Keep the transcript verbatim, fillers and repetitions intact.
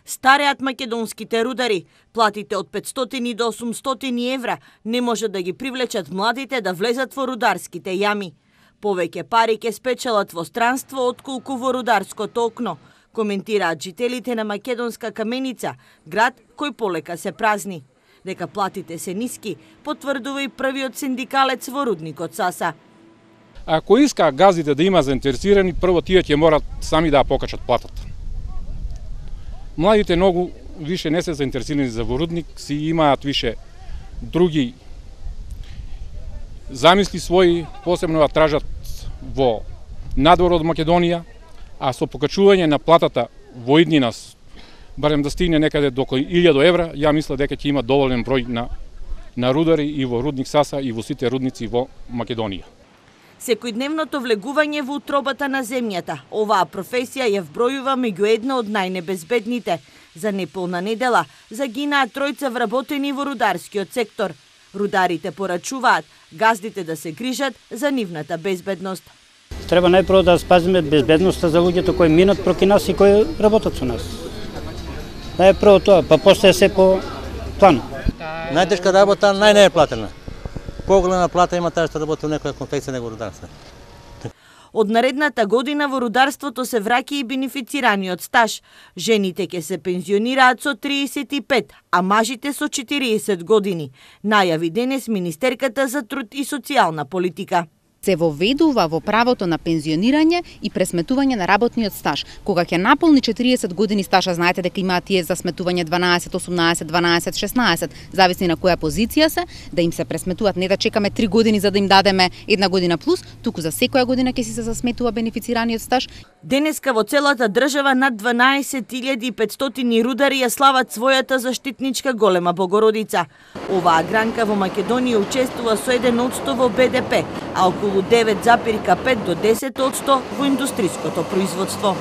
Стареат македонските рудари. Платите од петстотини до осумстотини евра не може да ги привлечат младите да влезат во рударските јами. Повеќе пари ќе спечелат во странство отколку во рударското окно, коментираат жителите на македонска Каменица, град кој полека се празни. Дека платите се ниски, потврдува и првиот синдикалец во рудникот Саса. Ако иска газите да има заинтересирани, прво тие ќе морат сами да ја покачат платата. Младите многу више не се заинтересирани за во рудник, си имаат више други замисли своји, посебно ја тражат во надвор од Македонија, а со покачување на платата во иднина, барем да стигне некаде до илјада евра, ја мисля дека ќе има доволен број на, на рудари и во рудник Саса и во сите рудници во Македонија. Секојдневното влегување во утробата на земјата, оваа професија ја вбројува меѓу една од најнебезбедните. За неполна недела загинаа тројца вработени во рударскиот сектор. Рударите порачуваат газдите да се грижат за нивната безбедност. Треба најпрво да спазиме безбедноста за луѓето кои минат проки нас и кои работат со нас. Најпрво тоа, па после се по план. Најтешка работа најне е платена. Поголема плата има таа што работи во некоја конфекција него рударство. Од наредната година во рударството се враќа и бенефицираниот стаж. Жените ќе се пензионираат со триесет и пет, а мажите со четириесет години. Најави денес Министерката за труд и социјална политика. Се воведува во правото на пензионирање и пресметување на работниот стаж. Кога ќе наполни четириесет години стажа, знаете дека имаат тие за сметување дванаесет, осумнаесет, дванаесет, шеснаесет, зависи на која позиција се, да им се пресметуваат, не да чекаме три години за да им дадеме една година плюс, туку за секоја година ќе си се засметува бенефицираниот стаж. Денеска во целата држава над дванаесет илјади и петстотини рудари ја слават својата заштитничка голема Богородица. Оваа гранка во Македонија учествува со еден одсто во Б Д П, а околу девет запирка пет до десет одсто во индустриското производство.